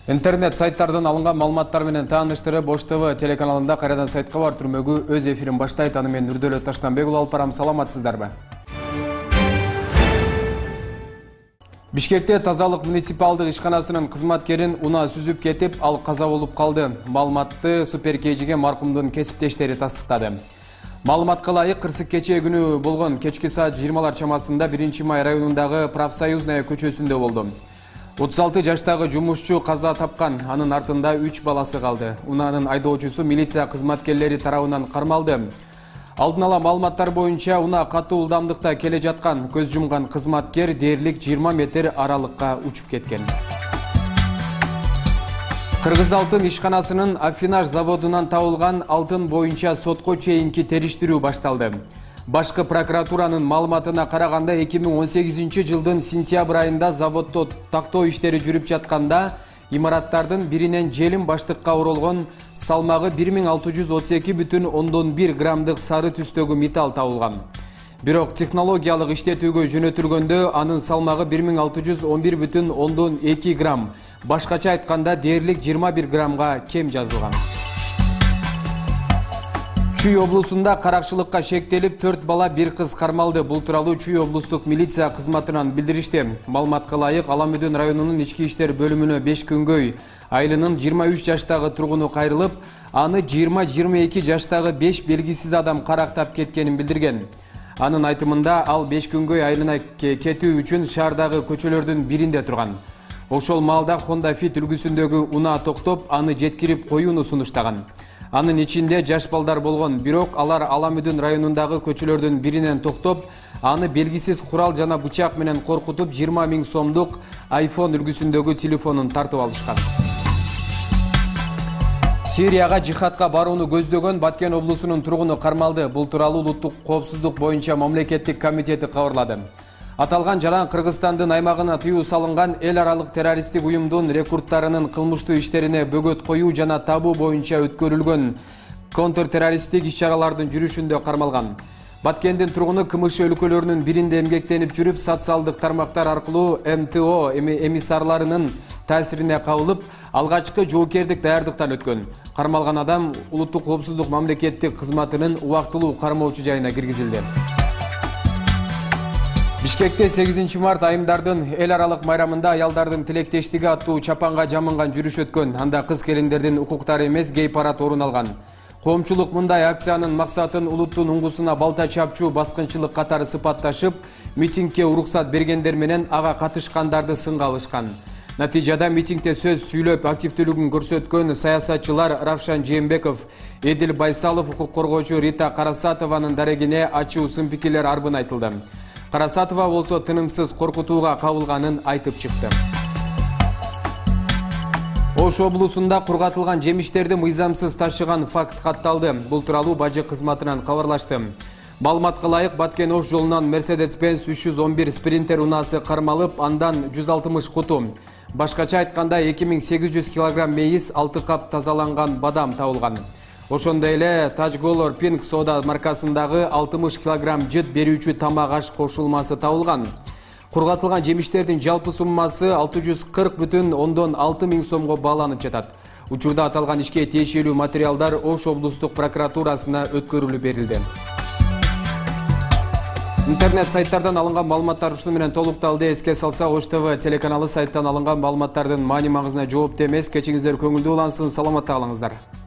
Интернет сайттардан алынган маалыматтар менен тааныштырып, Ош ТВ телеканалында кайрадан сайтка бар түрмөгү өз эфирин баштайт. Аны мен Нурдөлөт Таштанбек алып барам. Саламатсыздарбы? Бишкекте тазалык муниципалдык ишканасынын кызматкерин унаа сүзүп кетип, ал каза болуп калды. Маалыматты Суперкейжиге маркумдун кесиптештери тастыктады. Маалыматка ылайык, кырсык кечээ күнү болгон кечки саат 20 чамасында 1-май районундагы Профсоюзная көчөсүндө болду. 36 жаштагы жумушчу каза тапкан, анын артында 3 баласы калды. Унаанын айдоочусу милиция кызматкерлери тарабынан кармалды. Алдын ала маалыматтар боюнча унаа катуу ылдамдыкта келе жаткан, көз жумган кызматкер дээрлик 20 метр аралыкка учуп кеткен. Кыргыз алтын ишканасынын аффинаж заводунан табылган алтын боюнча сотко чейинки териштирүү башталды. Башкы прокуратуранын маалыматына караганда 2018 жылдын сентябрь айында заводдо тактоо иштери жүрүп жатканда имараттардын биринен желим баштыкка оролгон салмагы 1632,1 граммдык сары түстөгү металл табылган. Бирок технологиялык иштетүүгө жөнөтүлгөндө анын салмагы 1611,2 грамм, башкача айтканда дээрлик 21 граммга кем жазылган. Чүй облусунда каракчылыкка шектелип 4 бала 1 кыз кармалды. Бул тууралуу Чүй облустук милиция кызматынан билдиришти. Маалыматка ылайык, Аламөдөн районунун ички иштер бөлүмүнө 5 күнгөй айылынын 23 жаштагы тургуну кайрылып, аны 20-22 жаштагы 5 белгисиз адам карактап кеткенин билдирген. Анын айтымында ал 5 күнгөй айылына кетүү үчүн шаардагы көчөлөрдүн биринде турган. Ошол маалда Honda Fit үлгүсүндөгү унаа токтоп, аны жеткирип коюуну сунуштаган. Анын ичинде жаш балдар болгон, бирок алар Аламөдөн районундагы көчөлөрдүн биринен токтоп, аны белгисиз курал жана бычак менен коркутуп 20 000 сомдук iPhone үлгүсүндөгү телефонун тартып алышкан. Сирияга жихадка барууну көздөгөн Баткен облусунун тургуну кармалды. Бул тууралуу улуттук коопсуздук боюнча мамлекеттик комитети кабарлады. Аталган жаран Кыргызстандын аймагына тыюу салынган эл аралык террористтик уюмдун рекруттарынын кылмыштуу иштерине бөгөт коюу жана табуу боюнча өткөрүлгөн контртеррористтик иш-чаралардын жүрүшүндө кармалган. Баткендин тургуну КМШ өлкөлөрүнүн биринде эмгектенип жүрүп, социалдык тармактар аркылуу МТО эмиссарларынын таасирине кабылып, алгачкы жоопкердик даярдыктан өткөн. Кармалган адам улуттук коопсуздук мамлекеттик кызматынын убактылуу кармоочу жайына киргизилди. Бишкекте 8 март айымдардын эл аралык майрамында аялдардын тилектештиги аттуу чапанга жамынган жүрүш өткөн. Анда кыз келиндердин укуктары эмес гей-парад орун алган. Коомчулук мындай акциянын максатын улуттун уңгусуна балта чапчуу баскынчылык катары сыпатташып, митингге уруксат бергендер менен ага катышкандарды сынга алышкан. Натыйжада митингде сөз сүйлөп активдүүлүгүн көрсөткөн саясатчылар Равшан Жээнбеков, Эдил Байсалов, укук коргоочу Рита Карасатованын дарегине ачуу сын пикирлер арбын айтылды. Карасатова болсо тынымсыз коркутууга кабылганын айтып чыкты. Ош облусунда кургатылган жемиштерди мыйзамсыз ташыган факт катталды. Бул тууралуу бажы кызматынан кабарлашты. Маалыматка ылайык, Баткен Ош жолунан Mercedes-Benz 311 спринтер унаасы кармалып, андан 160 куту. Башкача айтканда 2800 кг мейиз, 6 кап тазаланган бадам табылган. Ошондой эле Тажголор Pink Soda маркасындагы 60 кг жыт берүүчү тамак аш кошулмасы табылган. Кургатылган жемиштердин жалпы суммасы 640,6 миң сомго бааланып жатат. Учурда аталган ишке тиешелүү материалдар Ош облустук прокуратурасына өткөрүлүп берилди. Интернет сайттардан алынган маалыматтар ушуну менен толукталды. Эске салсак, Ош ТВ телеканалы сайттан алынган маалыматтардын маани маңызына жоопту эмес. Кечиңиздер көңүлдүү улансын, саламатта калыңыздар.